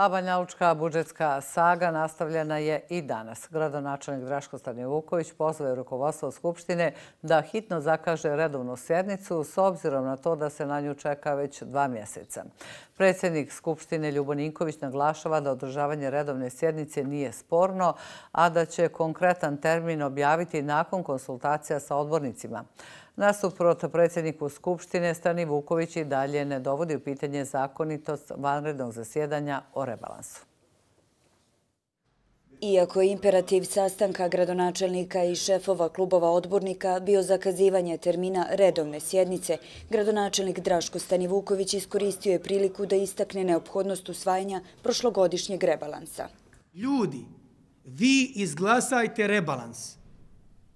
A banjalučka budžetska saga nastavljena je i danas. Gradonačelnik Draško Stanivuković pozvao je rukovodstvo Skupštine da hitno zakaže redovnu sjednicu s obzirom na to da se na nju čeka već 2 mjeseca. Predsjednik Skupštine Ljubo Ninković naglašava da održavanje redovne sjednice nije sporno, a da će konkretan termin objaviti nakon konsultacija sa odbornicima. Nasuprot predsjedniku Skupštine, Stanivuković i dalje ne dovodi u pitanje zakonitost vanrednog zasjedanja o rebalansu. Iako je imperativ sastanka gradonačelnika i šefova klubova odbornika bio zakazivanje termina redovne sjednice, gradonačelnik Draško Stanivuković iskoristio je priliku da istakne neophodnost usvajanja prošlogodišnjeg rebalansa. Ljudi, vi izglasajte rebalans.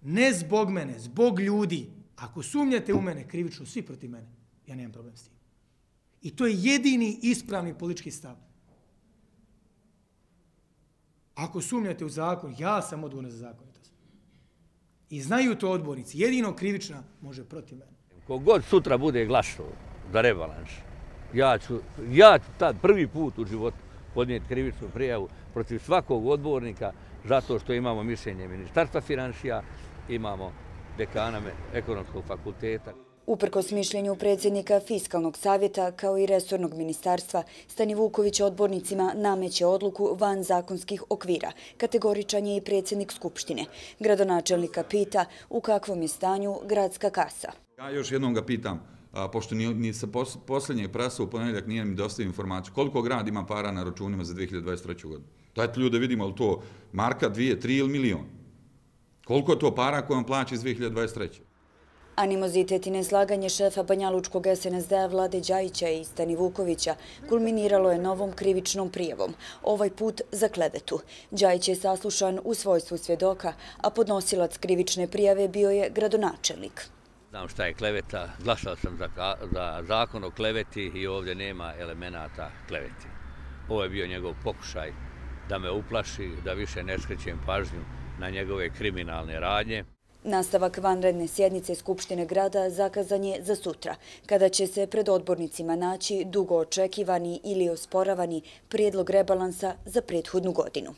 Ne zbog mene, zbog ljudi. Ako sumnjate u mene, krivično svi protiv mene, ja nemam problem s tim. I to je jedini ispravni politički stav. Ako sumnjate u zakon, ja sam odgovoran za zakonitost. I znaju to odbornici, jedino krivična može protiv mene. Kogod sutra bude glasao za rebalans, ja ću tad prvi put u životu podnijeti krivičnu prijavu protiv svakog odbornika zato što imamo mišljenje Ministarstva financija, imamo dekana ekonomskog fakulteta. Uprkos mišljenju predsjednika Fiskalnog savjeta kao i resornog ministarstva, Stanivuković odbornicima nameće odluku van zakonskih okvira. Kategoričan je i predsjednik Skupštine. Gradonačelnika pita u kakvom je stanju gradska kasa. Ja još jednom ga pitam, pošto ni sa posljednjeg prasa u ponedjeljak nije mi dostavio informaciju, koliko grad ima para na računima za 2023. godinu. Dajte ljudi da vidimo, ali to marka, 2, 3 ili milion. Koliko je to para koje on plaća iz 2023. Animozitet i neslaganje šefa banjalučkog SNSD-a Vlade Đajića i Stanivukovića kulminiralo je novom krivičnom prijavom, ovaj put za klevetu. Đajić je saslušan u svojstvu svjedoka, a podnosilac krivične prijave bio je gradonačelnik. Znam šta je kleveta, glasao sam za zakon o kleveti i ovdje nema elemenata kleveti. Ovo je bio njegov pokušaj da me uplaši, da više ne skrećem pažnju na njegove kriminalne radnje. Nastavak vanredne sjednice Skupštine grada zakazan je za sutra, kada će se pred odbornicima naći dugo očekivani ili osporavani prijedlog rebalansa za prethodnu godinu.